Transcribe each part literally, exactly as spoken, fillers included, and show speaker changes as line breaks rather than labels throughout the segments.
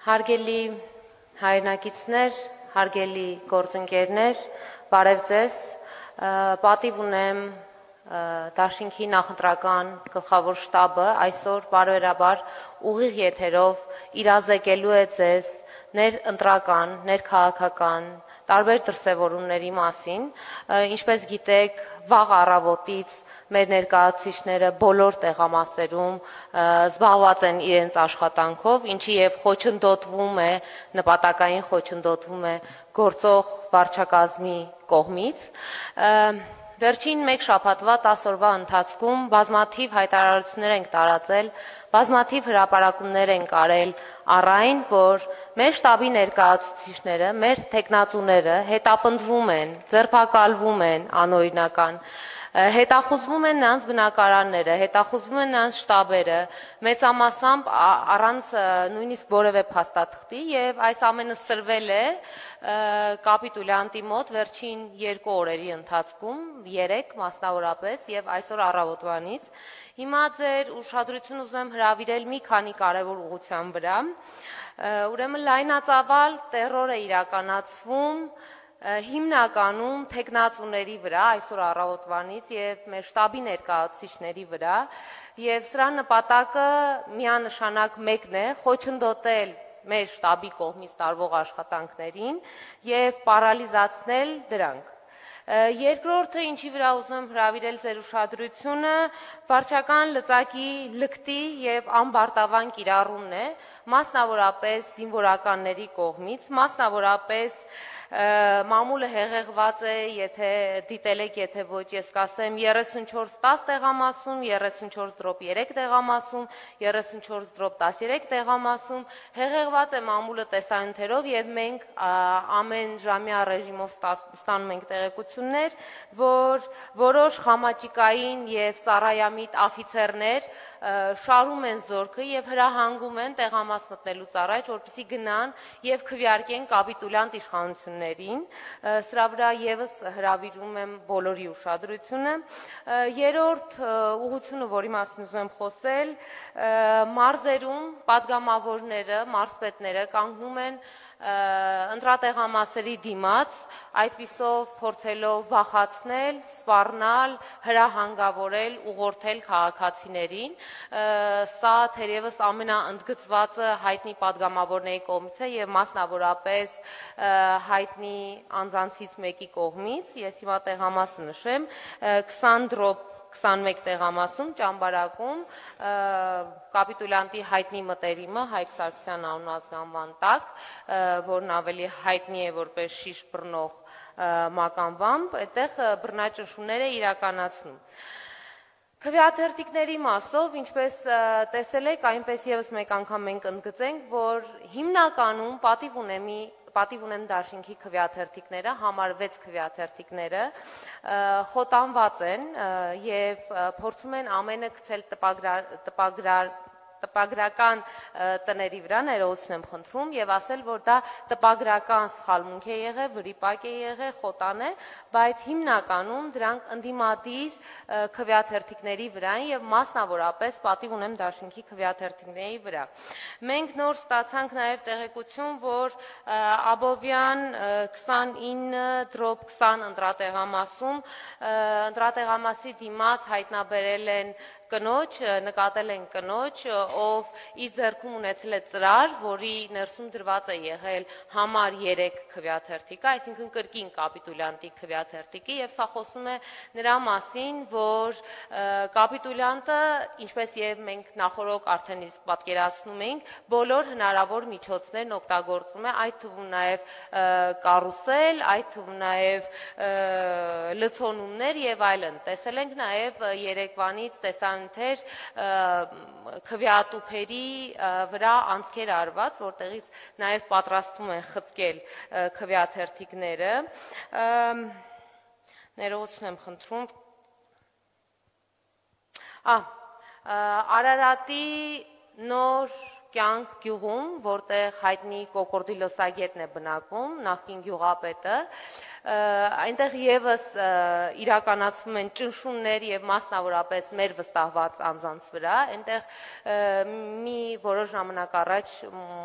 Հարգելի հայրենակիցներ, հարգելի գործընկերներ, բարև ձեզ, պատիվ ունեմ Դաշինքի նախընտրական գլխավոր շտաբը այսօր բարոյրաբար ուղիղ եթերով իրազեկելու է ձեզ ներընտրական, ներքաղաքական, տարբեր դրսևորումների մասին, ինչպես գիտեք, վաղ առավոտից մեր ներկայացուցիչները բոլոր տեղամասերում զբաղված են իրենց աշխատանքով, ինչի եւ խոչընդոտվում է, նպատակային խոչընդոտվում է գործող վարչակազմի կողմից։ Վերջին մեկ շաբաթվա տասը օրվա ընթացքում բազմաթիվ հայտարարություններ ենք տարածել, բազմաթիվ հրապարակումներ ենք արել առ այն, որ մեր շտաբի ներկայացուցիչները, մեր թեկնածուները հետապնդվում են, ձերբակալվում են անօրինական, հետախուզվում են նրանց բնակարանները, հետախուզվում են նրանց շտաբերը, մեծամասամբ առանց նույնիսկ որևէ փաստաթղթի եւ այս ամենը սրվել է կապիտուլյանտի մոտ վերջին երկու օրերի ընթացքում, երեք մասնավորապես եւ այսօր առավոտվանից։ Հիմա ձեր ուշադրություն ուզում եմ հրավիրել մի քանի կարևոր ուղղության վրա։ Ուրեմն լայնածավալ տերոր է իրականացվում հիմնականում թեկնածուների վրա այսօր առավոտվանից եւ մեր շտաբի ներկայացուցիչների վրա եւ սրա նպատակը միանշանակ մեկն է՝ խոչընդոտել մեր շտաբի կողմից տարվող աշխատանքներին եւ պարալիզացնել դրանք։ Երկրորդը, ինչի վրա ուզում եմ հրավիրել ձեր ուշադրությունը, վարչական լծակի լկտի եւ անբարտավան կիրառումն է, մասնավորապես զինվորականների կողմից, մասնավորապես մամուլը հեղեղված է, եթե դիտել եք, եթե ոչ, ես կասեմ երեսունչորս տասը տեղամասում, երեսունչորս դրոպ երեք տեղամասում, երեսունչորս դրոպ տասներեք տեղամասում, հեղեղված է մամուլը տեսանյութերով եւ մենք ամեն ժամյա ռեժիմով ստանում ենք տեղեկություններ, որ որոշ խամաճիկային եւ ծառայամիտ աֆիցերներ շարում են զորքը եւ հրահանգում են տեղամաս մտնելուց առաջ, որպեսզի գնան եւ քվեարկեն կապիտուլյանտ իշխանություններին, սրա վրա եւս հրավիրում եմ բոլորի ուշադրությունը։ Երրորդ ուղղությունը, որի մասին ուզում եմ խոսել, մարզերում падգամավորները, մարզպետները կանգնում են ընտրատեղամասերի դիմաց, այդպիսով փորձելով վախացնել, սպառնալ, հրահանգավորել, ուղղորդել քաղաքացիներին։ Սա թերևս ամենաընդգծվածը հայտնի падգամավորների կողմից է եւ մասնավորապես հայտնի անձանցից մեկի կողմից, ես հիմա տեղամասը նշեմ, քսան դրոպ քսանմեկ տեղամասում ճամբարակում կապիտուլյանտի հայտնի մտերիմը Հայկ Սարգսյան անունազգանվան տակ, որն ավելի հայտնի է որպես շիշ բռնող մականվամբ, այդտեղ բռնաճնշումներ է իրականացնում։ Քվեաթերթիկների մասով, ինչպես տեսել եք, այնպես եւս մեկ անգամ մենք ընդգծենք, որ հիմնականում պատիվ ունեմի պատիվ ունեն Դաշինքի քվեաթերթիկները, համար վեց քվեաթերթիկները խոտանված են եւ փորձում են ամենը գցել տպագրար տպագրական տների վրա, ներողություն եմ խնդրում եւ ասել, որ դա տպագրական սխալմունք է եղել, վրիպակ է եղել, խոտան է, բայց հիմնականում դրանք ընդդիմադիր քվեաթերթիկների վրա են եւ մասնավորապես պատիվ ունեմ Դաշինքի քվեաթերթիկների վրա։ Մենք նոր ստացանք նաեւ տեղեկություն, որ Աբովյան քսանինը դրոպ քսան ընտրատեղամասում ընտրատեղամասի դիմաց հայտնաբերել են կնոջ, նկատել են կնոջ, ով իր ձեռքում ունեցել է ծրար, որի ներսում դրված է եղել համար երեք քվեաթերթիկը, այսինքն կրկին կապիտուլյանտի քվեաթերթիկը եւ սա խոսում է նրա մասին, որ կապիտուլյանտը, ինչպես եւ մենք նախորդ արդեն իսկ պատկերացնում ենք, բոլոր հնարավոր միջոցներն օգտագործում է, այդ թվում նաեւ կարուսել, այդ թվում նաեւ լցոնումներ եւ այլն։ Տեսել ենք նաեւ երեկվանից տեսան քվեատուփերի վրա անցքեր արված, որտեղից նաև պատրաստում են խցկել քվեաթերթիկները։ Ներողություն եմ խնդրում։ Արարատի նոր կյանք գյուղում, որտեղ հայտնի կոկորդի լսագետն է բնակում, նախկին գյուղապետը, այնտեղ եւս իրականացվում են ճնշումներ եւ մասնավորապես մեր վստահված անձանց վրա, այնտեղ մի որոշ ժամանակ առաջ,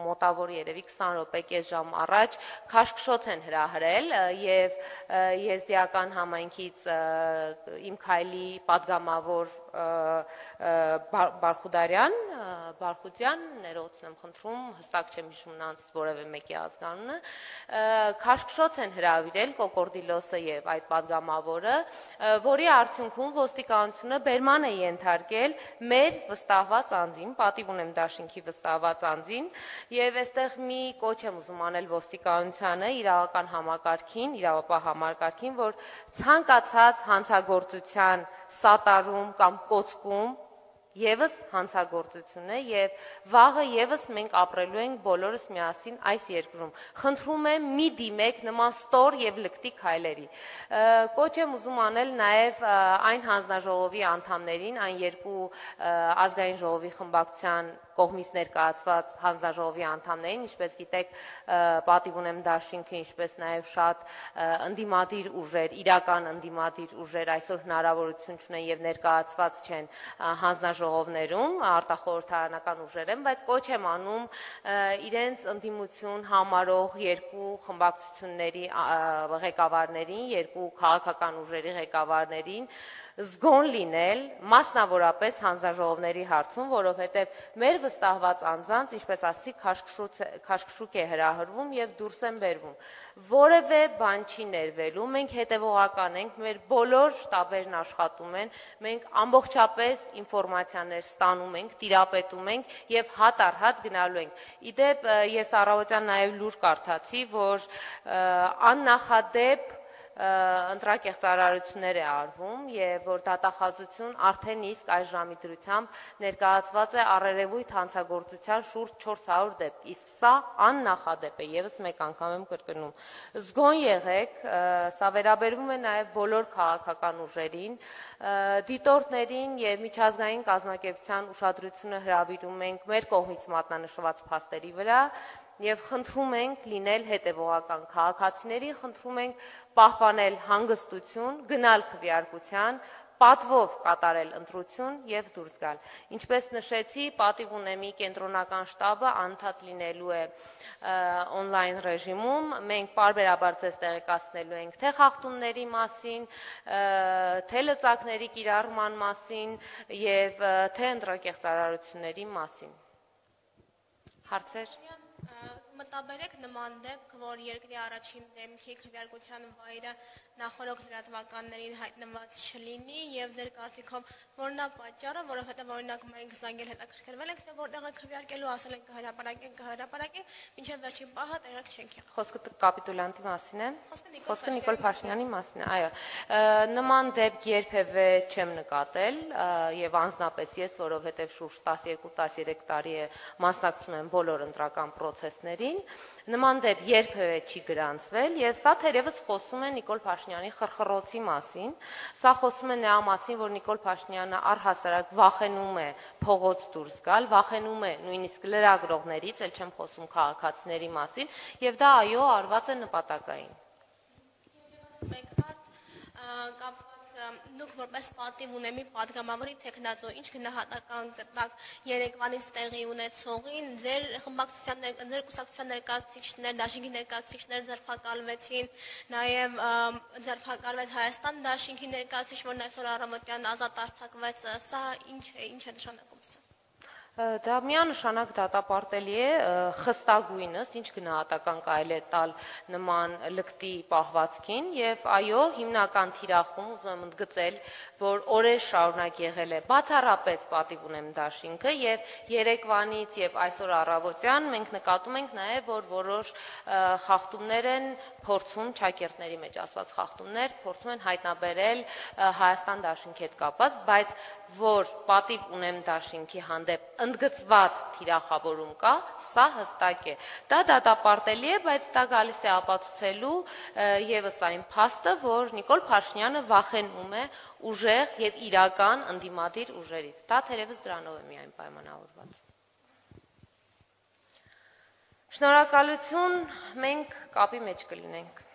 մոտավոր երևի քսան րոպե կես ժամ առաջ քաշքշոց են հրահրել եւ եզդիական համայնքից իմ քայլի падգամավոր Բարխուդարյան, Բարխուդյան, ներողություն եմ խնդրում, հստակ չեմ հիշում նրանց որևէ մեկի ազգանունը, քաշքշոց են հրավիրել Կոկորդիլոսը եւ այդ падգամավորը, որի արդյունքում ոստիկանությունը բերման է ենթարկել մեր վստահված անձին, պատիվ ունեմ դաշինքի վստահված անձին, եւ այստեղ մի կոչ եմ ուզում անել ոստիկանությանը, իրավական համակարգին, իրավապահ համակարգին, որ ցանկացած հանցագործության սատարում կամ կոծկում եւս հանցագործություն է եւ վաղը եւս մենք ապրելու ենք բոլորս միասին այս երկրում։ Խնդրում եմ մի դիմեք նման ստոր եւ լկտի քայլերի։ Կոչ եմ ուզում անել նաեւ այն հանձնաժողովի անդամներին, այն երկու ազգային ժողովի խմբակցության կողմից ներկայացված հանձնաժողովի անդամներին, ինչպես գիտեք, պատիվ ունեմ դաշինքը, ինչպես նաև շատ ընդդիմադիր ուժեր, իրական ընդդիմադիր ուժեր այսօր հնարավորություն չունեն եւ ներկայացված չեն հանձնաժողովներում, արտախորհրդարանական ուժեր են, բայց կոչ եմ անում իրենց ընդդիմություն համարող երկու խմբակցությունների ղեկավարներին, երկու քաղաքական ուժերի ղեկավարներին զգոն լինել, մասնավորապես հանձնաժողովների հարցում, որովհետև մեր վստահված անձանց, ինչպես ասի, քաշքշուկ է հրահրվում եւ դուրս են բերվում։ Որևէ բան չի ներվելու, մենք հետևողական ենք, մեր բոլոր շտաբերն աշխատում են, մենք ամբողջապես ինֆորմացիաներ ստանում ենք, տիրապետում ենք եւ հատ առ հատ գնալու ենք։ Իդեպ ես առավոտյան նաեւ լուր կարդացի, որ աննախադեպ ընտրակեղծարարություններ է արվում եւ որ դատախազություն արդեն իսկ այս ժամի դրությամբ ներկայացված է առերևույթ հանցագործության շուրջ չորս հարյուր դեպք, իսկ սա աննախադեպ է, եւս մեկ անգամ եմ կրկնում։ Զգոն եղեք, սա վերաբերվում է նաեւ բոլոր քաղաքական ուժերին, դիտորդներին եւ միջազգային կազմակերպության ուշադրությունը հրավիրում ենք մեր կողմից մատնանշված փաստերի վրա եւ խնդրում ենք լինել հետևողական քաղաքացիների, խնդրում ենք պահպանել հանգստություն, գնալ քվեարկության, պատվով կատարել ընտրություն եւ դուրս գալ։ Ինչպես նշեցի, պատիվ ունեմի կենտրոնական շտաբը անդադ լինելու է on-line ռեժիմում, մենք պարբերաբար ձեզ տեղեկացնելու ենք թե խախտումների մասին, թե լծակների կիրառման մասին եւ թե ընտրակեղծարարությունների մասին։ Հարցեր։
Մտաբերեք նման դեպք, որ երկրի առաջին դեմքի քվեարկության վայրը նախորդ լրատվականներին հայտնված չլինի եւ ձեր կարծիքով որն է պատճառը, որովհետեւ օրինակ մենք զանգել հետաքրքրվել ենք, թե որտեղ է քվեարկելու, ասել ենք կհրապարակենք, կհրապարակենք, մինչեւ վերջին պահը տեղակ չենք եղել։
Խոսքը կապիտուլյանտի մասին է։ Խոսքը Նիկոլ Փաշինյանի մասին է, այո։ Նման դեպք երբևէ չեմ նկատել եւ անձնապես ես, որովհետեւ շուրջ տասներկու տասներեք տարի է մասնակցում եմ բոլոր ընտրական process-ներին, նման դեպք երբևէ չի գրանցվել եւ սա թերևս խոսում է Նիկոլ Փաշինյանի խրխռոցի մասին, սա խոսում է նրա մասին, որ Նիկոլ Փաշինյանը առհասարակ վախենում է փողոց դուրս գալ, վախենում է նույնիսկ լրագրողներից, ել չեմ խոսում քաղաքացիների մասին, եւ դա այո արված է նպատակային։
Դուք որպես պատիվ ունեմի падգամավորի տեխնացու, ինչ գնահատական կտակ երեկվանից տեղի ունեցողին, ձեր խմբակցության, ձեր կուսակցության ներկայացուցիչներ, դաշինքի ներկայացուցիչներ ձերբակալվեցին, նաև ձերբակալվեց Հայաստան դաշինքի ներկայացուցիչ, որն այսօր առավոտյան ազատ արձակվեց, սա ինչ է, ինչ է նշանակում սա։
Դա միանշանակ դատապարտելի է խստագույնս, ինչ գնահատական կարելի է տալ նման լկտի պահվածքին եւ այո, հիմնական թիրախում ուզում եմ ընդգծել, որ օրեր շարունակ եղել է բացառապես պատիվ ունեմ դաշինքը եւ երեկվանից եւ այսօր առավոտյան մենք նկատում ենք նաեւ, որ որոշ խախտումներ են փորձում ճակերտների մեջ ասված խախտումներ փորձում են հայտնաբերել Հայաստան դաշինքի հետ կապված, բայց որ պատիվ ունեմ դաշինքի հանդեպ ընդգծված թիրախավորում կա, սա հստակ է։ Դա դատապարտելի է, բայց դա գալիս է ապացուցելու եւս այն փաստը, որ Նիկոլ Փաշինյանը վախենում է ուժեղ եւ իրական ընդդիմադիր ուժերից։ Դա թերևս դրանով է միայն պայմանավորված։ Շնորհակալություն, մենք կապի մեջ կլինենք։